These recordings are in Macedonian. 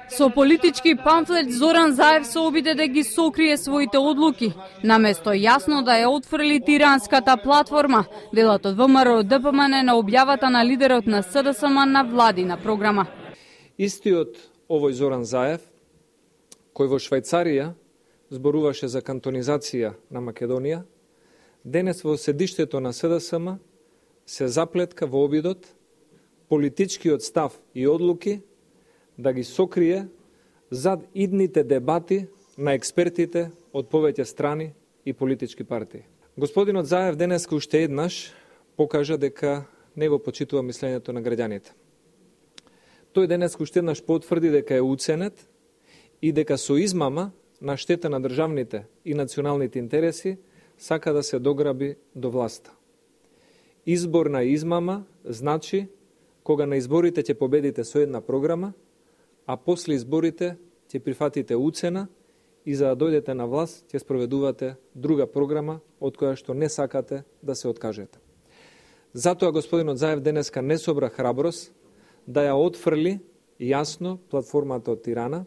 Со политички памфлет Зоран Заев се обиде да ги сокрие своите одлуки, наместо јасно да ја отфрли тиранската платформа, делот од ВМРО ДПМН на објавата на лидерот на СДСМ на владина програма. Истиот овој Зоран Заев, кој во Швајцарија зборуваше за кантонизација на Македонија, денес во седиштето на СДСМ се заплетка во обидот политичкиот став и одлуки да ги сокрие зад идните дебати на експертите од повеќе страни и политички партии. Господинот Заев денеска уште еднаш покажа дека не го почитува мислењето на граѓаните. Тој денеска уште еднаш потврди дека е уценет и дека со измама на штета на државните и националните интереси сака да се дограби до власта. Избор на измама значи кога на изборите ќе победите со една програма, а после изборите ќе прифатите уцена и за да дојдете на власт ќе спроведувате друга програма од која што не сакате да се откажете. Затоа господинот Заев денеска не собра храброст да ја отфрли јасно платформата од Тирана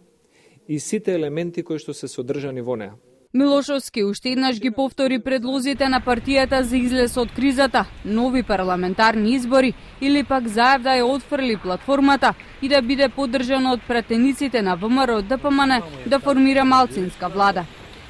и сите елементи кои што се содржани во неа. Милошовски уште еднаш ги повтори предлозите на партијата за излез од кризата, нови парламентарни избори или пак Заев да ја отфрли платформата и да биде поддржан од пратениците на ВМРО ДПМН да формира малцинска влада.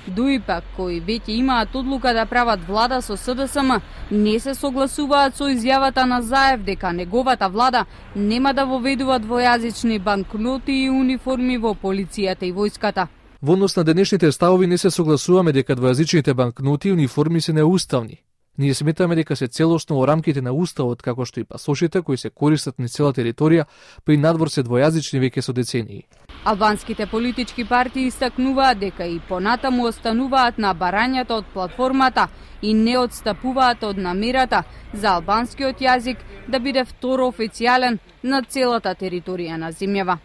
Дуи пак кои веќе имаат одлука да прават влада со СДСМ не се согласуваат со изјавата на Заев дека неговата влада нема да воведува двојазични банкноти и униформи во полицијата и војската. Во однос на денешните ставови не се согласуваме дека двојазичните банкноти и униформи се неуставни. Ние сметаме дека се целосно во рамките на уставот, како што и пасошите кои се користат на цела територија, при надвор се двојазични веќе со децении. Албанските политички партии истакнуваат дека и понатаму остануваат на барањата од платформата и не отстапуваат од намерата за албанскиот јазик да биде второ официјален на целата територија на земјава.